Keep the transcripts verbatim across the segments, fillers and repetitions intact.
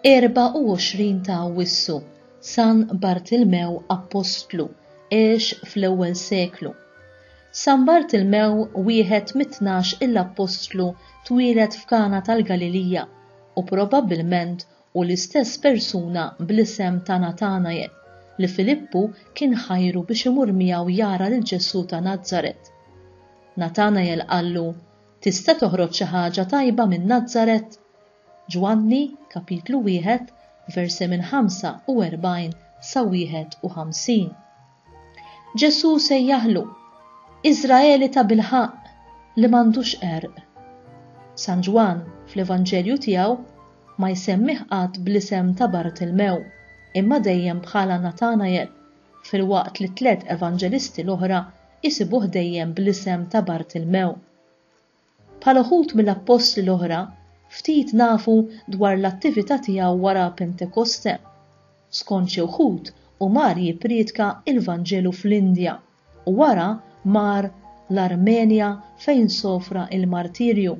Erbgħa u għoxrin ta' Awwissu, San Bartilmew Appostlu, għex fl-ewwel seklu. San Bartilmew, wieħed mit-tnax il-Appostlu, twieled f'Kana tal-Galilija u probabbilment hu l-istess persuna bl-isem ta' Natanael li Filippu kien ħajru biex imur miegħu jara lil Ġesù ta' Nazaret. Natanael qallu, Tista' toħroġ xi ħaġa tajba minn Nazaret? Ġwanni, kapitlu wieħed, versi minn ħamsa u erbgħin sa wieħed u ħamsin. Ġesù sejjaħlu, Iżraeli ta' bilħaqq li m'għandux qerq. San Ġwann fl-Evanġelju tiegħu ma jsemmih qatt bl-isem ta' Bartilmew, imma dejjem bħala Natanael, filwaqt li tliet evanġelisti l-oħra jsibuh dejjem bl-isem ta' Bartilmew. Bħal uħud mill-appostli l-oħra, ftit nafu dwar l-attività tiegħu wara Pentekoste. Skont xi wħud, hu mar jippriedka il-Vanġelu fl-Indja u wara mar l-Armenja fejn sofra il-martirju.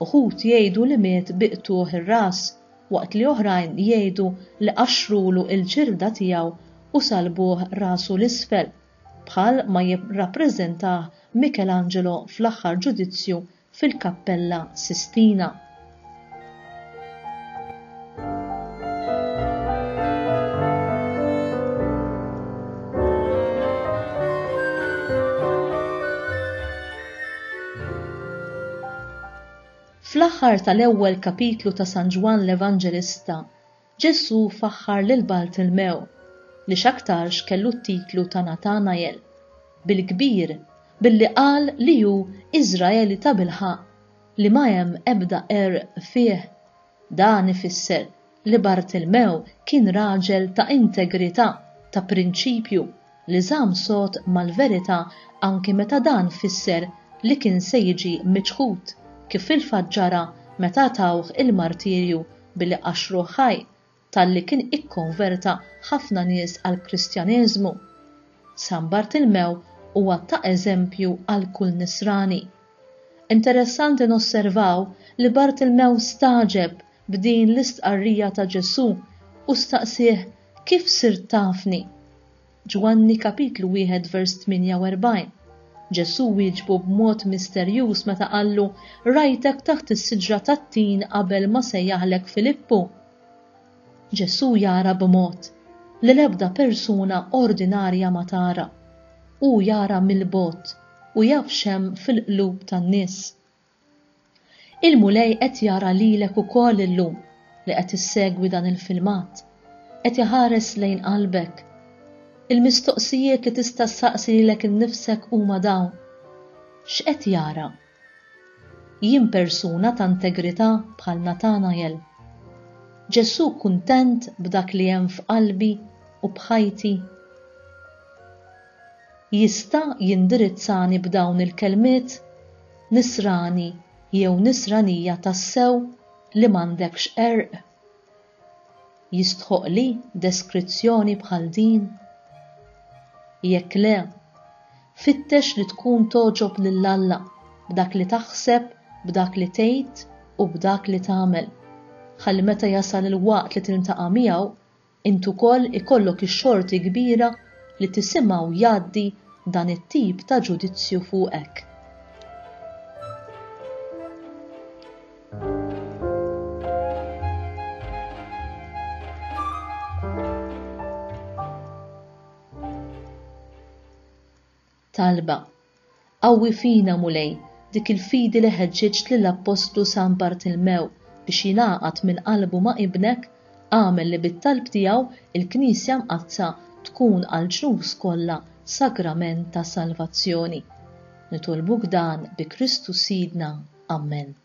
Uħud jgħidu li miet bi qtugħ ir-ras, waqt li oħrajn jgħidu li qaxxrulu l-ġilda tiegħu u salbuh rasu l-isfel, bħal ma jirrappreżentah Michelangelo fl-aħħar ġudizzju fil-Kappella Sistina. Fl-aħħar tal-ewwel kapitlu ta' San Ġwann l-Evanġelista, Ġesù faħħar lil Bartilmew, li x'aktarx kellu t-titlu ta' Natanael, bil-kbir billi qal li hu Iżraeli ta' bilħaqq li ma hemm ebda qerq fih. Dan ifisser li Bartilmew kien raġel ta' integrità, ta' prinċipju, li żamm sod mal-verità anki meta dan fisser li kien se jiġi miċħud, kif fil-fatt ġara meta tawh il-martirju billi qaxxruh ħaj, talli kien ikkonverta ħafna nies għall-Kristjaneżmu. San Bartilmew huwa ta' eżempju għal kull nisrani. Interessanti nosservaw li Bartilmew staġeb b'din l-istqarrija ta' Ġesù u staqsih kif sirt tafni. Ġwanni kapitlu wieħed vers tmienja u erbgħin. Ġesù wieġbu b'mod misterjuż meta qallu rajtek taħt is-siġra tat-tin qabel ma sejjaħlek Filippu. Ġesù jara b'mod li l-ebda persuna ordinarja ma tara. Hu jara mill-bogħod u jaf x'hemm fil-qlub tan-nies. Il-Mulej qed jara lilek ukoll illum li qed issegwi dan il-filmat. Qed iħares lejn qalbek. Il-mistoqsijiet li tista' ssaqsi lilek innifsek huma dawn. X'qed jara? Jien persuna ta' integrità bħal Natanael. Ġesù kuntent b'dak li hemm f'qalbi u b'ħajti. Jista' jindirizzani b'dawn il-kelmiet nisrani jew nisranija tassew li m'għandekx qerq? Jistħoqli deskrizzjoni bħal din? Jekk le, fittex li tkun togħġob lil Alla b'dak li taħseb, b'dak li tgħid u b'dak li tagħmel. Ħalli meta jasal il-waqt li tiltaqa' miegħu, int ukoll ikollok ix-xorti kbira li tisimgħu jgħaddi dan it-tip ta' ġudizzju fuqek. Talba. Qawwi fina, Mulej, dik il-fidi li ħeġġiġt lill-Appostlu San Bartilmew biex jingħaqad minn qalbu ma' ibnek, għamel li bit-talb tiegħu il-Knisja Mqaddsa tkun għall-ġnus kollha sagrament ta' salvazzjoni. Nitolbuk dan bi Kristu Sidna. Amen.